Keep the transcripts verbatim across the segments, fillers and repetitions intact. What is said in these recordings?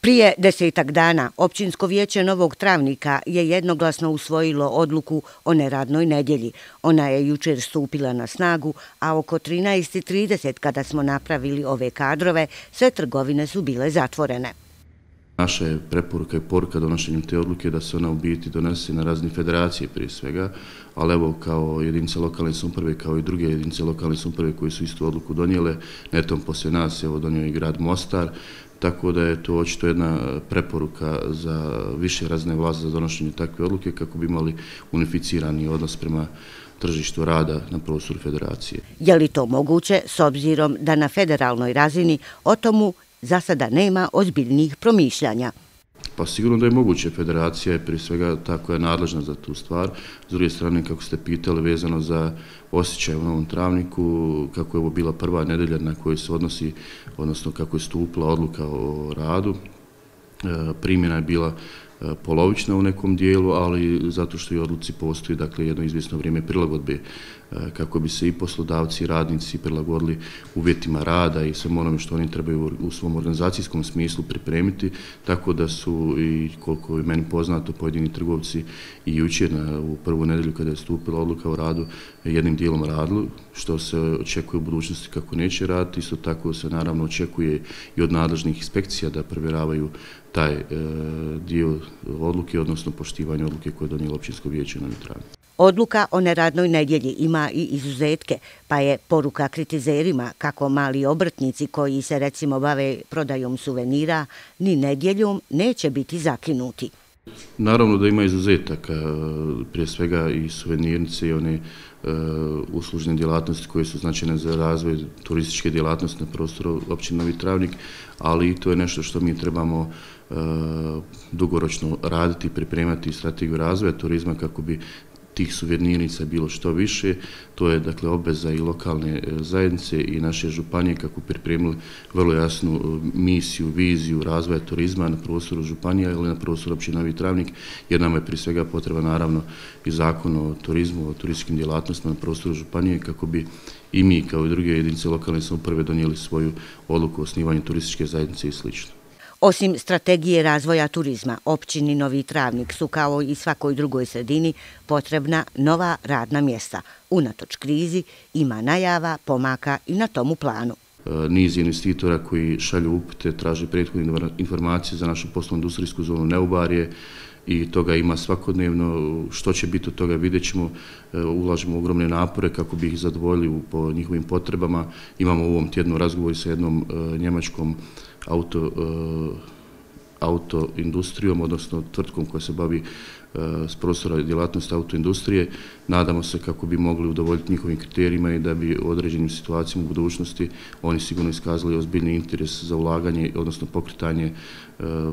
Prije desetak dana Općinsko vijeće Novog Travnika je jednoglasno usvojilo odluku o neradnoj nedjelji. Ona je jučer stupila na snagu, a oko trinaest i trideset kada smo napravili ove kadrove, sve trgovine su bile zatvorene. Naša je preporuka i poruka donošenjem te odluke da se ona u biti donese na razini federacije prije svega, ali evo kao jedinice lokalne samouprave, kao i druge jedinice lokalne samouprave koje su istu odluku donijele, netom poslije nas evo donio i grad Mostar, tako da je to očito jedna preporuka za više razine vlasti za donošenje takve odluke kako bi imali unificirani odnos prema tržištu rada na prostoru federacije. Je li to moguće s obzirom da na federalnoj razini o tomu za sada nema ozbiljnih promišljanja? Pa sigurno da je moguće. Federacija je prije svega ta koja je nadležna za tu stvar. S druge strane, kako ste pitali, vezano za osjećaj u Novom Travniku, kako je ovo bila prva nedelja na kojoj se odnosi, odnosno kako je stupila odluka o radu, primjena je bila polovična u nekom dijelu, ali zato što i odluci postoji dakle, jedno izvjesno vrijeme prilagodbe kako bi se i poslodavci i radnici prilagodili uvjetima rada i svemu onome što oni trebaju u svom organizacijskom smislu pripremiti, tako da su i koliko je meni poznato pojedini trgovci i jučer u prvu nedelju kada je stupila odluka o radu jednim dijelom radili, što se očekuje u budućnosti kako neće raditi, isto tako se naravno očekuje i od nadležnih inspekcija da provjeravaju taj e, dio odluke, odnosno poštivanje odluke koje je donijelo Općinsko vijeće Novi Travnik. Odluka o neradnoj nedjelji ima i izuzetke, pa je poruka kritizerima kako mali obrtnici koji se recimo bave prodajom suvenira ni nedjeljom neće biti zakinuti. Naravno da ima izuzetaka, prije svega i suvenirnice i one uh, uslužne djelatnosti koje su značajne za razvoj turističke djelatnosti na prostoru općine Novi Travnik, ali i to je nešto što mi trebamo uh, dugoročno raditi i pripremati strategiju razvoja turizma kako bi tih suvenirnica bilo što više. To je dakle obveza i lokalne zajednice i naše županije kako pripremili vrlo jasnu misiju, viziju razvoja turizma na prostoru županija ili na prostoru općine Novi Travnik, jer nam je prije svega potreba naravno i zakon o turizmu, o turističkim djelatnostima na prostoru županije kako bi i mi kao i druge jedinice lokalne samouprave donijeli svoju odluku o osnivanju turističke zajednice i slično. Osim strategije razvoja turizma, općini Novi Travnik su kao i svakoj drugoj sredini potrebna nova radna mjesta. Unatoč krizi ima najava, pomaka i na tomu planu. Niz investitora koji šalju upute, traže prethodne informacije za našu poslovnu industrijsku zonu Neubarje i toga ima svakodnevno. Što će biti od toga vidjet ćemo, ulažemo ogromne napore kako bi ih zadovoljili po njihovim potrebama. Imamo u ovom tjednu razgovor sa jednom njemačkom auto, autoindustrijom, odnosno tvrtkom koja se bavi s prostora djelatnosti autoindustrije. Nadamo se kako bi mogli udovoljiti njihovim kriterijima i da bi u određenim situacijama u budućnosti oni sigurno iskazali ozbiljni interes za ulaganje, odnosno pokretanje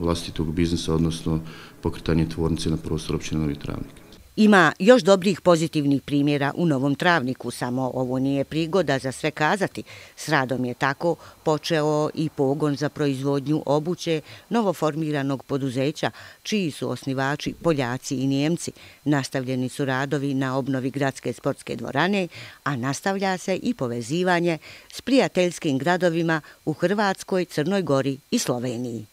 vlastitog biznisa, odnosno pokretanje tvornice na prostoru općine Novi Travnik. Ima još dobrih pozitivnih primjera u Novom Travniku, samo ovo nije prigoda za sve kazati. S radom je tako počeo i pogon za proizvodnju obuće novoformiranog poduzeća, čiji su osnivači Poljaci i Nijemci. Nastavljeni su radovi na obnovi gradske sportske dvorane, a nastavlja se i povezivanje s prijateljskim gradovima u Hrvatskoj, Crnoj Gori i Sloveniji.